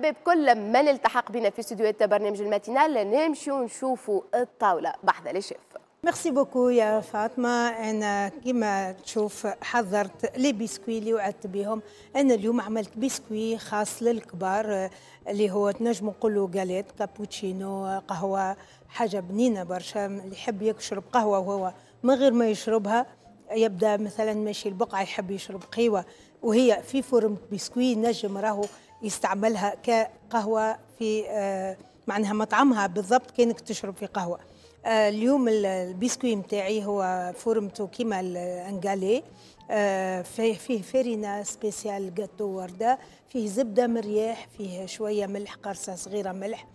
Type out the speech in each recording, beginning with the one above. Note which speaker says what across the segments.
Speaker 1: مرحبا بكل من التحق بنا في استديوهات برنامج الماتينال. نمشيو نشوفوا الطاولة بحذا les chefs.
Speaker 2: merci beaucoup يا فاطمة. انا كما تشوف حضرت les biscuits اللي وعدت بهم. انا اليوم عملت بسكوي خاص للكبار اللي هو تنجم نقولوا galette، cappuccino، قهوة، حاجة بنينه برشا. اللي يحب يشرب قهوة وهو من غير ما يشربها، يبدا مثلا ماشي البقعة يحب يشرب قهوة وهي في forme biscuit، نجم راهو يستعملها كقهوه في معناها مطعمها بالضبط كانك تشرب في قهوة. اليوم البسكوي نتاعي هو فورمته كيما ال galet، فيه فرينه spéciale gâteau ورده، فيه زبدة مرياح، فيه شوية ملح، قرصة صغيرة ملح،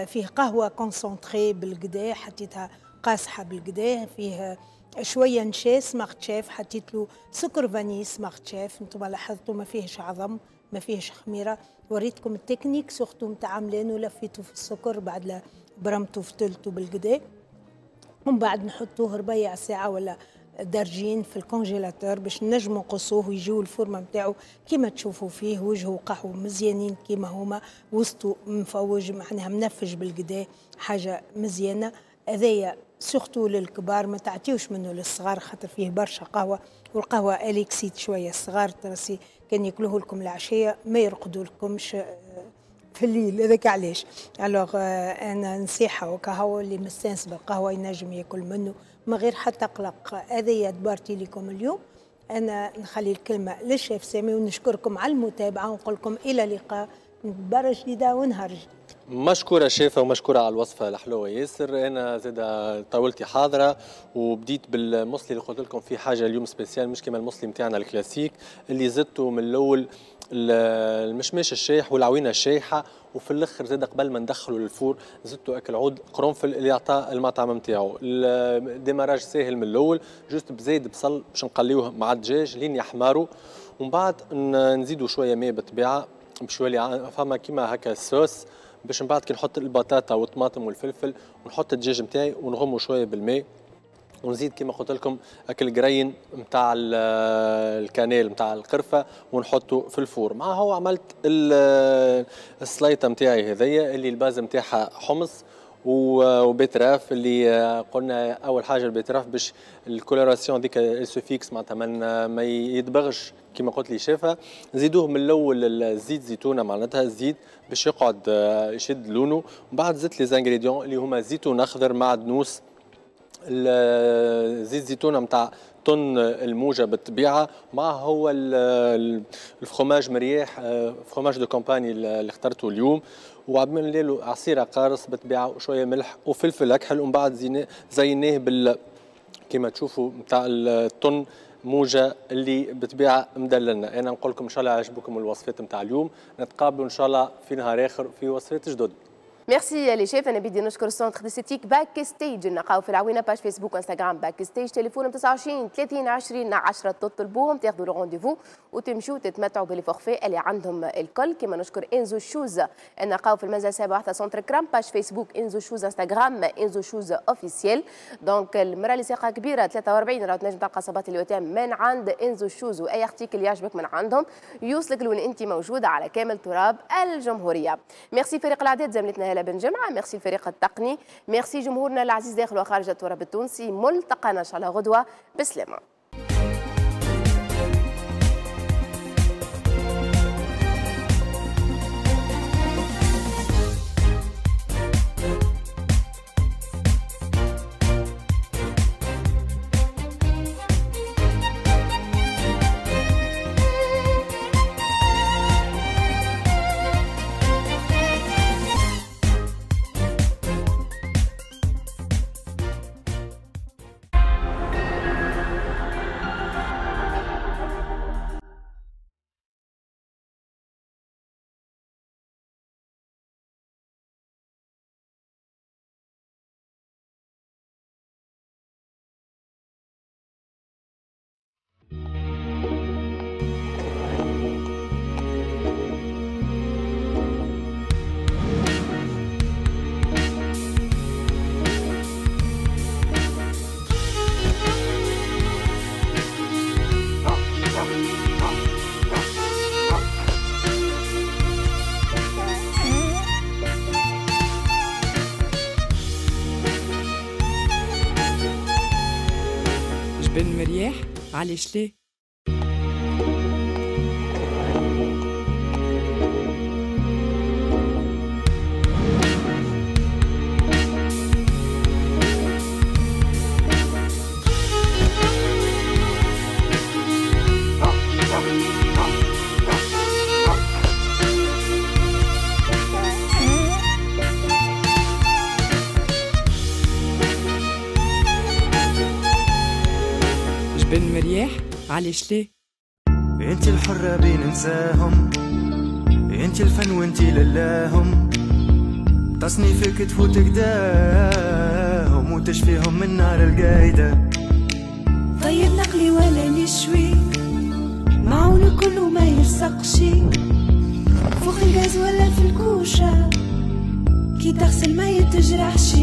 Speaker 2: فيه قهوة concentrée بالقدا حطيتها قاصحة بالقدا، فيه شوية نشا Smart Chef، حطيت له سكر vanillé Smart Chef. انتم لاحظتوا ما فيهش عظم، ما فيهش خميره. وريتكم ال technique surtout نتاع عملانه، لفيته في السكر بعد برمته فتلته بالقدا، ومن بعد نحطوه ربيع ساعة ولا درجين في ال congélateur باش نجمو نقصوه ويجيو الفورمة نتاعو كيما تشوفوا فيه، وجهه قهوة مزيانين كيما هما، وسطو مفوج معناها منفج بالقدا، حاجة مزيانه. هذايا surtout للكبار، ما تعطيوش منه للصغار خاطر فيه برشا قهوة، والقهوة elle excite شوية الصغار، ترسي كان ياكلوه لكم العشية ما يرقدوا لكمش في الليل، هذاك علاش. alors انا نصيحة وكهو اللي مستانس بالقهوة ينجم ياكل منه من غير حتى قلق. هذه دبارتي لكم اليوم. انا نخلي الكلمة للشيف سامي ونشكركم على المتابعة ونقول لكم الى اللقاء دبارة جديدة ونهار جديد.
Speaker 3: مشكورة شيفة ومشكورة على الوصفة الحلوة ياسر. أنا زاد طاولتي حاضرة وبديت بالمصلي اللي قلت لكم فيه حاجة اليوم spéciale، مش كما المصلي نتاعنا الكلاسيك اللي زدته من الأول المشماش الشايح والعوينة الشايحة، وفي الآخر زاد قبل ما ندخله لل four زدته أكل عود قرنفل اللي عطاه المطعم نتاعو. ال démarrage ساهل من الأول، juste بزايد بصل باش نقليوه مع الدجاج لين يحمروا، ومن بعد نزيدوا شوية ماء بالطبيعة باش يولي فما كيما هكا الصوص، باش من بعد كي نحط البطاطا والطماطم والفلفل ونحط الدجاج نتاعي ونغمو شوية بالماء، ونزيد كما قلت لكم اكل grains نتاع ال cannelle نتاع القرفه ونحطه في ال four. مع هو عملت السليطه نتاعي هذيا اللي ال base نتاعها حمص و betterave، اللي قلنا اول حاجة ال betterave باش ال coloration ديك se fixe معناتها ما يدبغش كما قلت لي شافها. نزيدوه من الاول الزيت زيتونه معناتها الزيت باش يقعد يشد لونه، ومن بعد زدت les ingrédients اللي هما زيتون اخضر معدنوس، زيت زيتونه نتاع طن الموجه بالطبيعة، مع هو الفخوماج مرياح fromage de campagne اللي اخترته اليوم، وعملنا له عصيره قارص بالطبيعة وشوية ملح وفلفل اكحل، ومن بعد زيناه بال كما تشوفوا نتاع الطن موجه اللي بالطبيعة مدللنا. انا نقول لكم ان شاء الله عجبكم الوصفات نتاع اليوم، نتقابلوا ان شاء الله في نهار اخر في وصفات جدد.
Speaker 1: merci les chefs. انا بدي نشكر centre d'esthétique باك ستيج، نلقاو في العوينة page فيسبوك انستغرام باك ستيج، تليفونهم 29 30 20 10، تطلبوهم تاخذوا le rendez-vous وتمشوا تتمتعوا ب les forfaits اللي عندهم الكل. كما نشكر انزو شوز، نلقاو في المنزل 7 centre كرام، page فيسبوك انزو شوز، انستغرام انزو شوز officiel. donc المراة اللي ساقها كبيرة 43 راهو تنجم تلقى صباط اليوتام من عند انزو شوز، واي article يعجبك من عندهم يوصلك لوين انت موجودة على كامل تراب الجمهورية. ميرسي فريق الاعداد زميلتنا بن جمعه، ميرسي الفريق التقني، ميرسي جمهورنا العزيز داخل وخارج التراب التونسي. ملتقانا ان شاء الله غدوه، بسلامه.
Speaker 4: جبن مرياح علاش ليه؟ جبن مرياح علاش ليه؟
Speaker 5: انت الحرة بين نساهم، انت الفن وانت للاهم، تصنيفك تفوت قداهم وتشفيهم من نار القايدة.
Speaker 6: طيب نقلي ولا نشوي، معون كله ما يلصقش، فوق الغاز ولا في الكوشة، كي تغسل ما يتجرحش.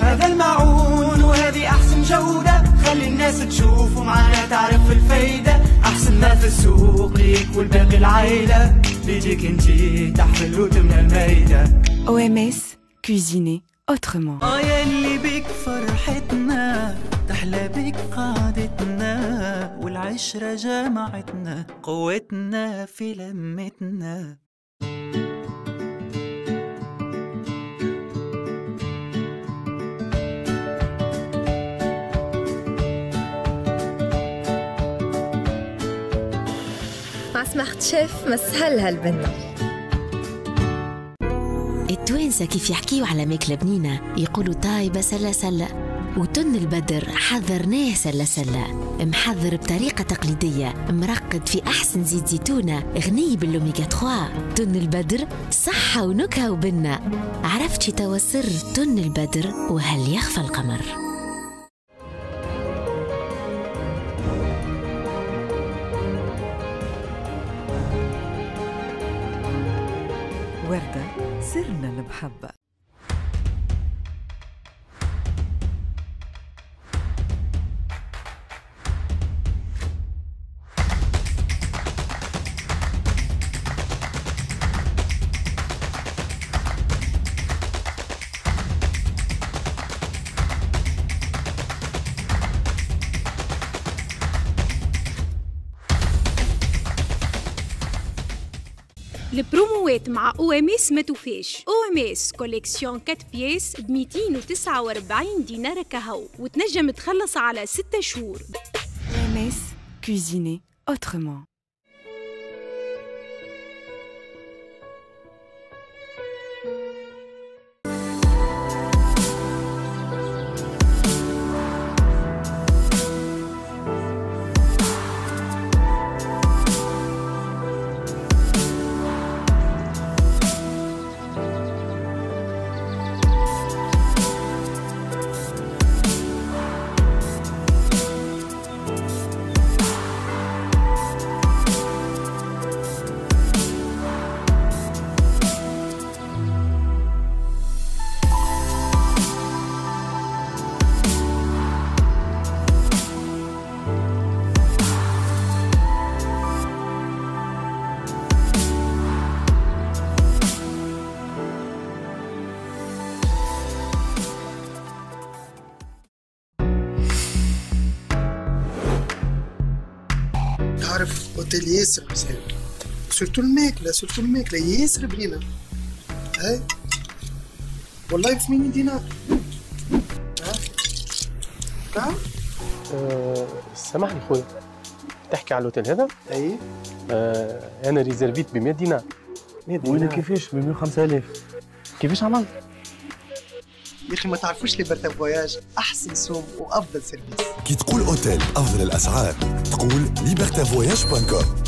Speaker 5: هذا المعون وهذه أحسن جودة، خلي الناس تشوف ومعانا تعرف الفايدة، أحسن ما في السوق ليك والباقي العيلة، بيديك انتي تحمل وتمنى المايدة.
Speaker 4: OMS, cuisiner autrement.
Speaker 5: يا اللي بك فرحتنا، تحلى بك قعدتنا، والعشرة جمعتنا، قوتنا في لمتنا.
Speaker 7: مع سمارت شيف مسهل هالبنة.
Speaker 8: التوانسة كيف يحكيوا على ماكلة بنينة يقولوا طايبة سلة سلة، وتن البدر حذرناه سلة سلة، محضر بطريقة تقليدية، مرقد في أحسن زيت زيتونة، غني بالأوميغا 3. تن البدر صحة ونكهة وبنة. عرفتي توا سر تن البدر وهل يخفى القمر؟
Speaker 9: وردة سرنا المحبة.
Speaker 10: البروموات مع OMS ما توفاش. OMS collection 4 pièces ب 249 دينار كهو، وتنجم تخلص على 6 شهور.
Speaker 4: OMS, cuisiner autrement.
Speaker 11: تعرف اوتيل ياسر مزيان، surtout الماكلة، surtout الماكلة ياسر بنينة. هاي والله ب 80 دينار. ها
Speaker 3: سامحني خويا، تحكي على الاوتيل هذا؟
Speaker 11: اي.
Speaker 3: انا réserv يت ب 100 دينار.
Speaker 11: 100 دينار؟
Speaker 3: وانا كيفاش ب 105000؟ كيفاش عملت؟
Speaker 11: يا اخي ما تعرفوش Liberté Voyages احسن سوم وافضل service.
Speaker 12: كي تقول اوتيل افضل الاسعار تقول Liberté Voyages point com.